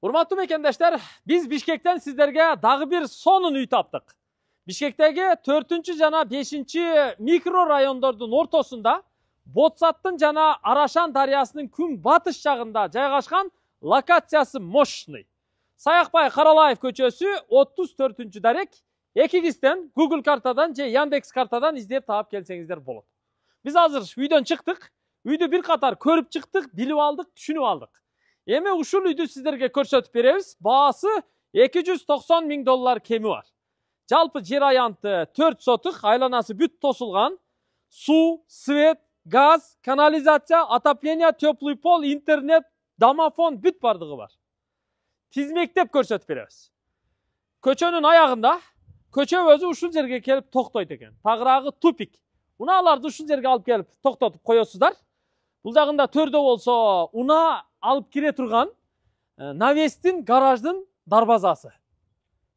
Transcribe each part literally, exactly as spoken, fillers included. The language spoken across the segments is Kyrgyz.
Урматтуу мекендештер, биз Бишкектен сиздерге дагы бир сонун үй таптык. Бишкектеги төртүнчү жана бешинчи микро райондордун ортосунда Ботсаттын жана Арашан дарыясынын күн батыш жагында жайгашкан локациясы мощный. Саякбай Каралаев көчөсү отуз төртүнчү дарек. Экигизден Google картадан же Яндекс картадан издеп таап келсеңиздер болот. Биз азыр үйдөн чыктык. Үйдү бир катар көрүп чыктык, билип алдык, түшүнүп алдык. Эми ушул үйдү сиздерге көрсөтүп беребиз. Баасы эки жүз токсон миң доллар кеми бар. Жалпы жер аянты төрт сотук, айланасы бүт тосулган. Суу, свет, газ, канализация, отопление, теплый пол, интернет, домофон бүт бардыгы бар. Тизмектеп көрсөтүп беребиз. Көчөнүн аягында көчө өзү ушул жерге келип токтойт экен. Тагыраагы тупик. Унааларды ушул жерге алып келип токтотуп коесуздар. Бул жагында төрдө болсо унаа алып кире турган навестин гараждын дарбазасы.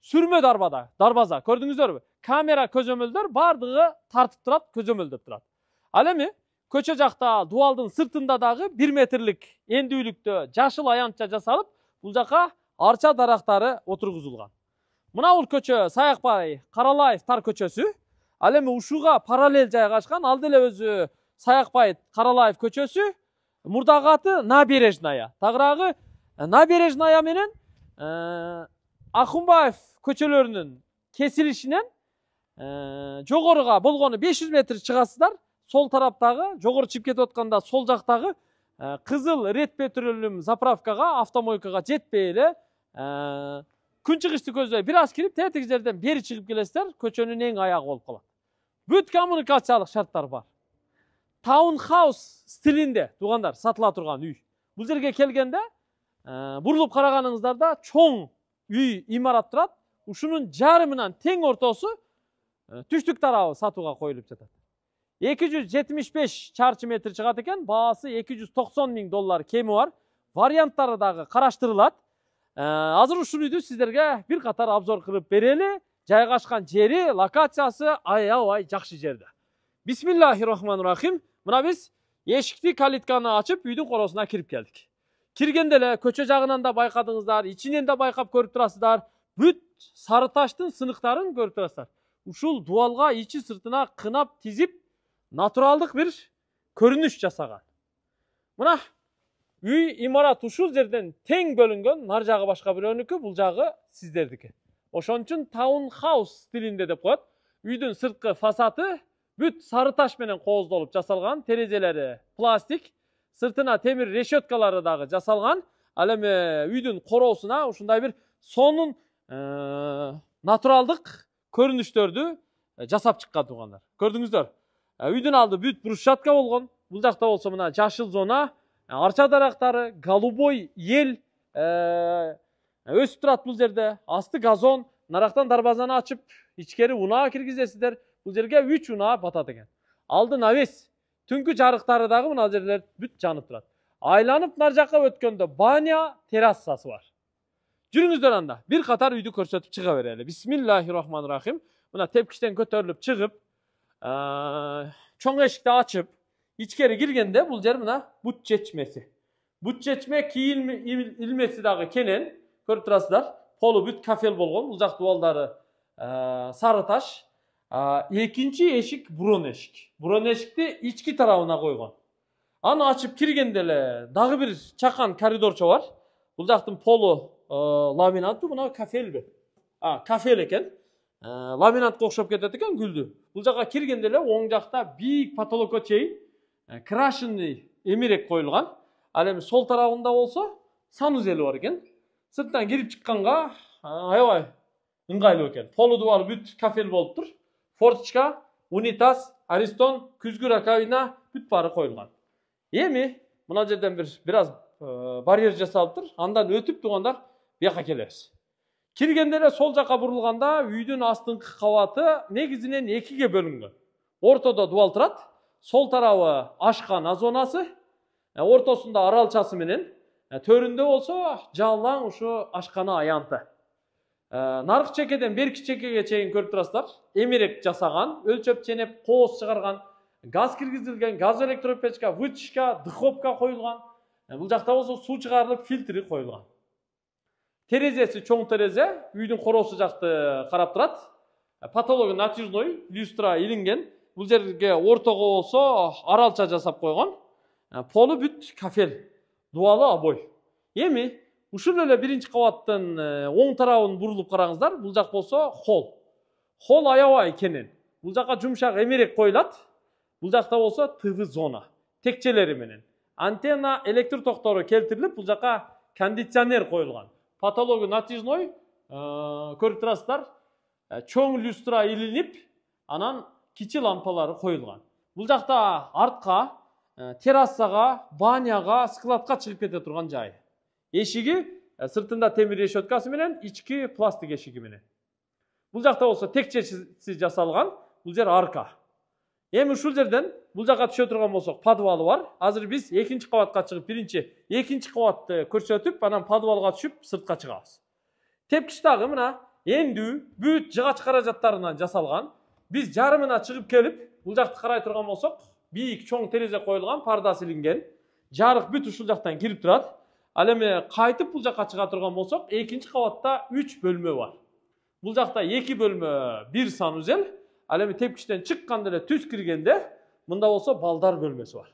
Сүрмө дарбада, дарбаза. Көрдүңүздөрбү? Камера көзөмөлдөр бардыгы тартып турат, көзөмөлдөп турат. Ал эми көчө жакта дубалдын сыртында дагы бир метрлик эндүүлүктө жашыл аянтча жасалып, бул жака арча дарактары отургузулган. Мына бул көчө Саякбай Каралаев тар көчөсү. Ал эми ушуга параллель жайгашкан, ал деле өзү Саякбай Каралаев көчөсү. Мурдагы аты Набережная. Тагыраагы Набережная менен Акунбаев көчөлөрүнүн кесилишинен жогоруга болгону беш жүз метр чыгасыздар. Сол тараптагы, жогору чыгып кетип атканда сол жактагы кызыл ред петролюм заправкага, автомойкага жетпей эле күн чыгышты көздөй бир аз кирип, тетиги жерден бери чыгып келесиздер, көчөнүн эң аягы болуп калат. Бүт коммуникациялык шарттар бар. Таунхаус стилинде туугандар сатыла турган үй. Бул жерге келгенде бурулуп караганыңыздарда чоң үй имарат турат. Ушунун жарымынан тең ортосу түштүк тарабы сатууга коюлуп жатат. эки жүз жетимиш беш чарчы метр чыгат экен, баасы эки жүз токсон миң доллар кеми бар. Варианттары дагы караштырылат. Азыр ушул үйдү сиздерге бир катар обзор кылып берели. Жайгашкан жери, локациясы аябай жакшы жерде. Бисмиллахиррахманиррахим. Мына биз эшикти, калитканы ачып, үйдүн коросуна кирип келдик. Киргенде эле көчө жагынан да байкадыңыздар, ичинен да байкап көрүп турасыздар. Бүт сары таштын сыныктарын көрүп турасыздар. Ушул дубалга ичи сыртына кынап тизип, натуралдык бир көрүнүш жасаган. Мына үй имарат ушул жерден тең бөлүнгөн, нар жагы башка бирөөнүкү, бул жагы сиздердики. Ошон үчүн таунхаус стилинде деп коет. Үйдүн сырткы фасады бүт сары таш менен кооздолуп жасалган, терезелери пластик, сыртына темир решеткалары дагы жасалган. Ал эми үйдүн короосуна ушундай бир сонун натуралдык көрүнүштөрдү жасап чыккан туугандар. Көрдүңүздөр? Үйдүн алды бүт брусчатка болгон. Бул жакта болсо мына жашыл зона, арча дарактары, голубой ел өсүп турат бул жерде. Асты газон, нарактан дарбазаны ачып, ичкери унаа киргизесиздер. Бул жерге үч унаа батат экен. Алды навес, түнкү жарыктары дагы мына жерлер бүт жанып турат. Айланып нар жакка өткөндө баня, террасасы бар. Жүрүңүздөр анда. Бир катар үйдү көрсөтүп чыга берели. Бисмиллахиррахманиррахим. Мына тепкичтен көтөрүлүп чыгып, чоң эшикти ачып, ичкери киргенде бул жер мына бут чечмеси. Бут чечме кийим илмеси дагы кенен, көрүп турасыздар. Полу бүт кафел болгон. Бул жак дубалдары сары таш. Экинчи эшик бурон эшик. Бурон эшикти ички тарабына койгон. Аны ачып киргенде эле дагы бир чакан коридорчо бар. Бул жактын полу ламинаттуу, мына кафелби? А, кафел экен. Ламинатка окшоп кетет экен гүлдү. Бул жакка киргенде эле оң жакта бийик потолокко чейин крашенный эмерек коюлган. Ал эми сол тарабында болсо санузели бар экен. Сырттан кирип чыкканга аябай ыңгайлуу экен. Полу дубалы бүт кафел болуп тур. Форточка, унитаз, аристон, күзгү раковина бүт баары коюлган. Эми мына жерден бир бир аз барьер жасалып тур. Андан өтүп туугандар бияка келебиз. Киргенде эле сол жакка бурулганда үйдүн астыңкы кабаты негизинен экиге бөлүнгөн. Ортодо дубал турат. Сол тарабы ашкана зонасы, ортосунда аралчасы менен, төрүндө болсо жалаң ушу ашкана аянты. Наркы чекеден берки чекеге чейин көрүп турасыздар. Эмерек жасаган, өлчөп ченеп, кооз чыгарган, газ киргизилген, газ электропечка, вытяжка, дыховка коюлган. Бул жакта болсо суу чыгарылып фильтри коюлган. Терезеси чоң терезе, үйдүн короосу жакты карап турат. Потологу натяжной, люстра илинген. Бул жерге ортого болсо аралча жасап койгон. Полу бүт кафел, дуалы обой. Эми ушул эле биринчи кабаттын оң тарабын бурулуп караңыздар. Бул жак болсо холл. Холл аябай кенен. Бул жакка жумшак эмерек коюлат. Бул жакта болсо ТВ зона, текчелери менен. Антенна, электр токтору келтирилип, бул жакка кондиционер коюлган. Потологу натяжной, көрүп турасыздар. Чоң люстра илинип, анан кичи лампалары коюлган. Бул жакта артка, террасага, баняга, складка чыгып кете турган жай. Эшиги сыртында темир решеткасы менен, ички пластик эшиги менен. Бул жакта болсо текчеси жасалган. Бул жер арка. Эми ушул жерден бул жакка түшө турган болсок, подвалы бар. Азыр биз экинчи кабатка чыгып, биринчи, экинчи кабатты көрсөтүп, анан подвалга түшүп, сыртка чыгабыз. Тепкич дагы мына эндүү, бүт жыгач каражаттарынан жасалган. Биз жарымына чыгып келип, бул жакты карай турган болсок, бийик чоң терезе коюлган, пардасы илинген. Жарык бүт ушул жактан кирип турат. Ал эми кайтып бул жакка чыга турган болсок, экинчи кабатта үч бөлмө бар. Бул жакта эки бөлмө, бир санузел. Ал эми тепкичтен чыкканда эле түз киргенде, мында болсо балдар бөлмөсү бар.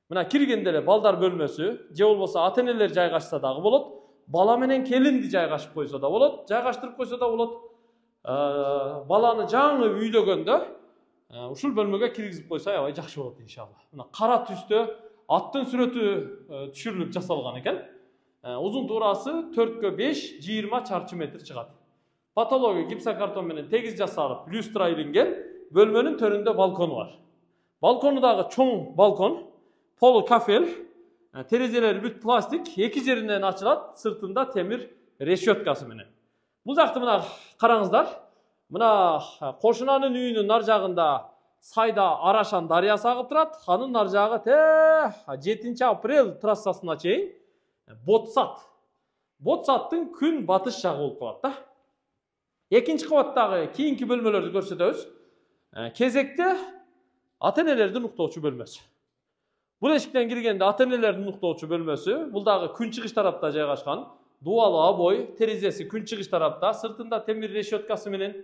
Мына киргенде эле балдар бөлмөсү, же болбосо ата-энелер жайгашса дагы болот, бала менен келинди жайгашып койсо да болот, жайгаштырып койсо да болот. Баланы жаңы үйлөгөндө ушул бөлмөгө киргизип койсо аябай жакшы болот иншалла. Мына кара түстө аттын сүрөтү түшүрүлүп жасалган экен. Узун туурасы төрткө беш, жыйырма чарчы метр чыгат. Потологу гипсокартон менен тегиз жасалып, люстра илинген, бөлмөнүн төрүндө балкону бар. Балкону дагы чоң балкон, полу кафел, терезелери бүт пластик, эки жеринен ачылат, сыртында темир решеткасы менен. Бул жакты мына караңыздар. Мына кошунанын үйүнүн нар жагында Сайда Арашан дарыясы агып турат. Анын нар жагы те жетинчи апрель трассасына чейин Ботсат. Ботсаттын күн батыш жагы болуп калат да. Экинчи кабаттагы кийинки бөлмөлөрдү көрсөтөбүз. Кезекте ата-энелердин уктоочу бөлмөсү. Бул эшиктен киргенде ата-энелердин уктоочу бөлмөсү. Бул дагы күнчыгыш тарапта жайгашкан. Дуалы обой, терезеси күнчыгыш тарапта, сыртында темир решеткасы менен,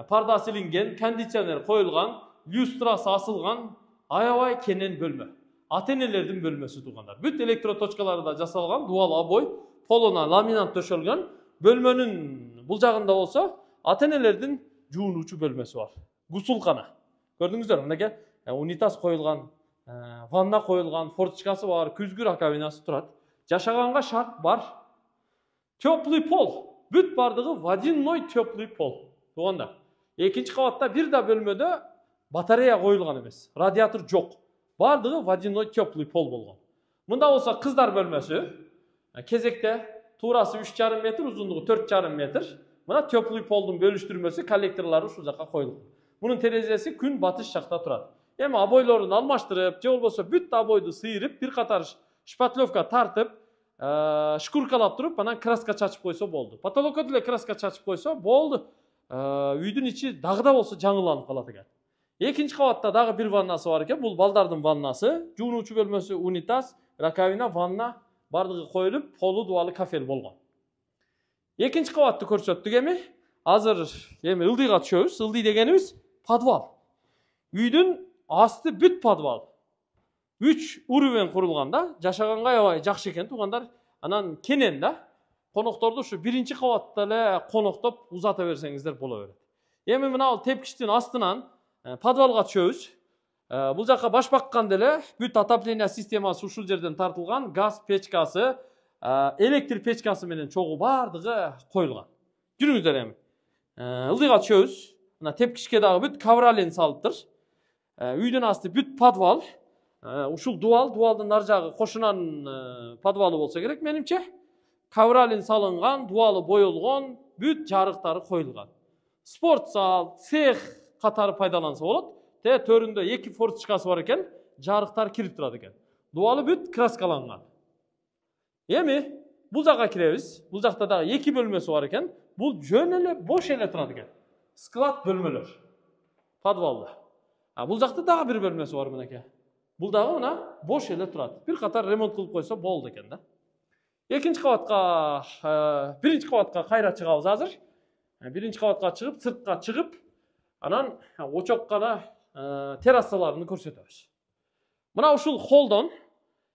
пардасы илинген, кондиционер коюлган, люстрасы асылган, аябай кенен бөлмө. Ата-энелердин бөлмөсү туугандар. Бүт электроточкалары да жасалган, дуалы обой, полуна ламинат төшөлгөн. Бөлмөнүн бул жагында болсо ата-энелердин жуунуучу бөлмөсү бар. Гусулкана. Көрдүңүздөр, мынакей унитаз коюлган, ванна коюлган, форточкасы бар, күзгү раковинасы турат. Жашаганга шарт бар. Теплый пол. Бүт бардыгы водяной теплый пол. Туугандар. Экинчи кабатта бир да бөлмөдө батарея коюлган эмес. Радиатор жок. Бардыгы водяной теплый пол болгон. Мында болсо кыздар бөлмөсү. Кезекте туурасы үч жарым метр, узундугу төрт жарым метр. Мына теплый полдун бөлүштүрмөсү, коллекторлору ушул жакка коюлган. Мунун терезеси күн батыш жакта турат. Эми обойлорун алмаштырып, же болбосо бүт обойду сыйрып, бир катар шпатлевка тартып, шкуркалап туруп, анан краска чачып койсо болду. Потолокко деле краска чачып койсо болду. Үйдүн ичи дагы да болсо жаңыланып калат экен. Экинчи кабатта дагы бир ваннасы бар экен. Бул балдардын ваннасы, жуунуучу бөлмөсү, унитаз, раковина, ванна бардыгы коюлуп, полу дуалы кафел болгон. Экинчи кабатты көрсөттүк эми. Азыр эми ылдыйга түшөбүз. Ылдый дегенибиз подвал. Үйдүн асты бүт подвал. Үч уровень курулган да, жашаганга аябай жакшы экен туугандар. Анан кенен да, конокторду ушу биринчи кабатта эле коноктоп узата берсеңиздер боло берет. Эми мына тепкичтин астынан подвалга түшөбүз. Бул жакка баш бакканда эле бүт отопление системасы ушул жерден тартылган, газ печкасы, электр печкасы менен чогуу бардыгы коюлган. Жүрүңүздөр эми. Ылдыйга түшөбүз. Мына тепкичке дагы бүт ковролин салыптыр. Үйдүн асты бүт подвал. Ушул дуал, дуалдын нар жагы кошунанын подвалы болсо керек менимче. Ковролин салынган, дуалы боелгон, бүт жарыктары коюлган. Спорт зал, цех катары пайдаланса болот. Те төрүндө эки форточкасы бар экен, жарыктар кирип турат экен. Дуалы бүт краскаланган. Эми бул жакка киребиз. Бул жакта дагы эки бөлмөсү бар экен. Бул жөн эле бош эле турат экен. Склад бөлмөлөр. Подвалда. А бул жакта дагы бир бөлмөсү бар мынакей. Бул дагы мына бош эле турат. Бир катар ремонт кылып койсо болду экен да. экинчи кабатка, биринчи кабатка кайра чыгабыз азыр. Биринчи кабатка чыгып, сыртка чыгып, анан очоккана террасаларын көрсөтөбүз. Мына ушул холдон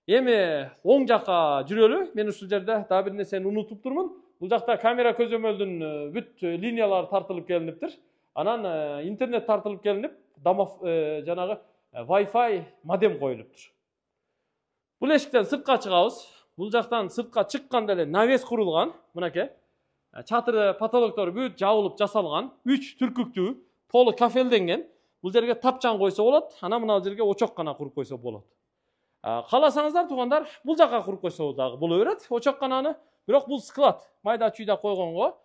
эми оң жакка жүрөлү. Мен ушул жерде дагы бир нерсени унутуп турмун. Бул жакта камера көзөмөлдүн бүт линиялары тартылып келиниптир. Анан интернет тартылып келинип, жанагы Wi-Fi модем коюлуптур. Бул эшиктен сыртка чыгабыз. Бул жактан сыртка чыкканда эле навес курулган. Мынакей. Чатыры, потолоктору бүт жабылып жасалган. үч түркүктүү, толук кафелденген. Бул жерге тапчан койсо болот. Анан мына жерге очок гана куруп койсо болот. Кааласаңыздар туугандар, бул жакка куруп койсо дагы боло берет. Очок кананы, бирок бул склад. Майда чүйдө койгонго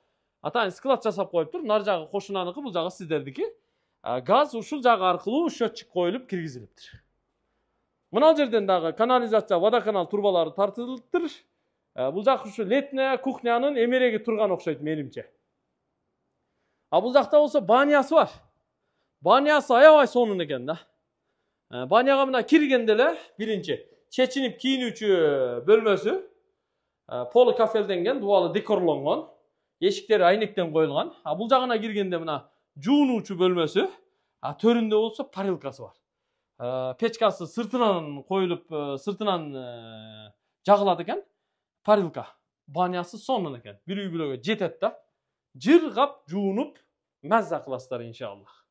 атайын склад жасап коюптур. Нар жагы кошунаныкы, бул жагы сиздердики. Газ ушул жагы аркылуу счетчик коюлуп киргизилиптир. Мына жерден дагы канализация, водоканал турбалары тартылыптыр. Бул жак ушу летная кухнянын эмереги турган окшойт менимче. А бул жакта болсо банясы бар. Банясы аябай сонун экен да. Баняга мына киргенде эле биринчи чечинип кийинүүчү бөлмөсү. Полу кафелденген, дубалы декорлонгон. Эшиктери айнектен коюлган. А бул жагына киргенде мына жуунуучу бөлмөсү. А төрүндө болсо парилкасы бар. Печкасы сыртынан коюлуп, сыртынан жагылат экен. Парилка. Банясы сонун экен. Бир үй бүлөгө жетет да. Жыргап, жуунуп, маза кыласыздар иншаллах.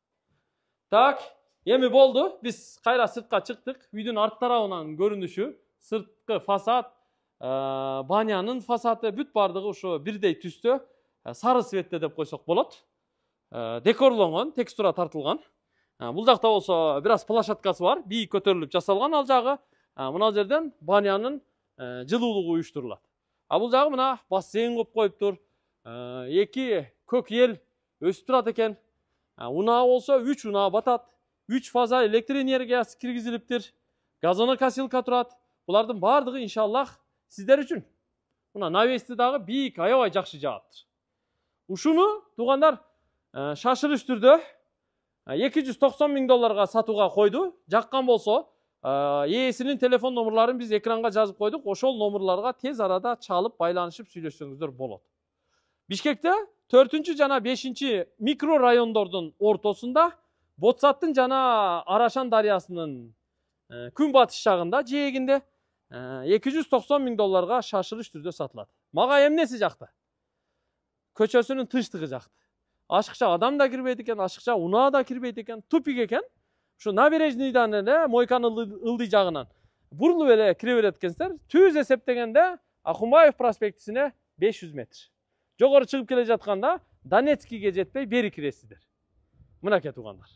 Так, эми болду. Биз кайра сыртка чыктык. Үйдүн арт тарабынан көрүнүшү, сырткы фасад, банянын фасады бүт бардыгы ошо бирдей түстө, сары цветте деп койсок болот. Декорлонгон, текстура тартылган. Бул жакта болсо бир аз площадкасы бар, бийик көтөрүлүп жасалган ал жагы. Мына жерден банянын жылуулугу уюштурулат. А бул жагы мына бассейн коюп коюптур. Эки көк эл өсүп турат экен. Унаа болсо үч унаа батат. үч фаза электр энергиясы киргизилиптир. Газонокосилка турат. Булардын бардыгы иншаллах сиздер үчүн. Мына навести дагы бийик, аябай жакшы жааптыр. Ушуну туугандар шашырыш түрдө эки жүз токсон миң долларга сатууга койду. Жаккан болсо ээсинин телефон номерларын биз экранга жазып койдук. Ошол номерларга тез арада чалып байланышып сүйлөшсөңүздөр болот. Бишкекте төртүнчү жана бешинчи микро райондордун ортосунда Ботсаттын жана Арашан дарыясынын күнбатыш жагында, жээгинде эки жүз токсон миң долларга шашырыш түрдө сатылат. Мага эмнеси жакты? Көчөсүнүн тынчтыгы жакты. Ашыкча адам да кирбейт экен, ашыкча унаа да кирбейт экен, тупик экен. Ушу набережныйдан эле Мойканын ылдый жагынан бурулуп эле кире берет экенсиздер. Түз эсептегенде Акунбаев проспектисине беш жүз метр. Жогору чыгып келе жатканда Донецкийге жетпей бери киресиздер. Мынакей туугандар.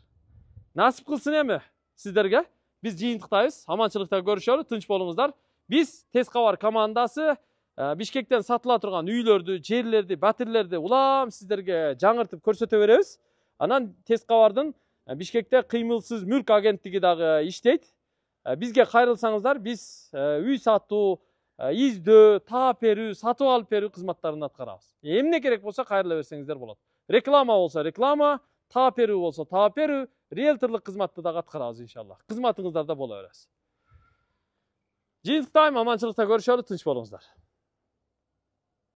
Насип кылсын эми сиздерге. Биз жыйынтыктайбыз. Аманчылыкта көрүшөлү, тынч болуңуздар. Биз Тез кабар командасы Бишкектен сатыла турган үйлөрдү, жерлерди, батирлерди улам сиздерге жаңыртып көрсөтө беребиз. Анан Тез кабардын Бишкекте кыймылсыз мүлк агенттиги дагы иштейт. Бизге кайрылсаңыздар, биз үй сатуу, издөө, таап берүү, сатып алып берүү кызматтарын аткарабыз. Эмне керек болсо кайрыла берсеңиздер болот. Реклама болсо реклама, таап берүү болсо таап берүү, риэлторлук кызматты дагы аткарабыз иншаллах. Кызматыңыздарда боло бересиз. Жыйынтыктайм, аманчылыкта көрүшөлү, тынч болуңуздар.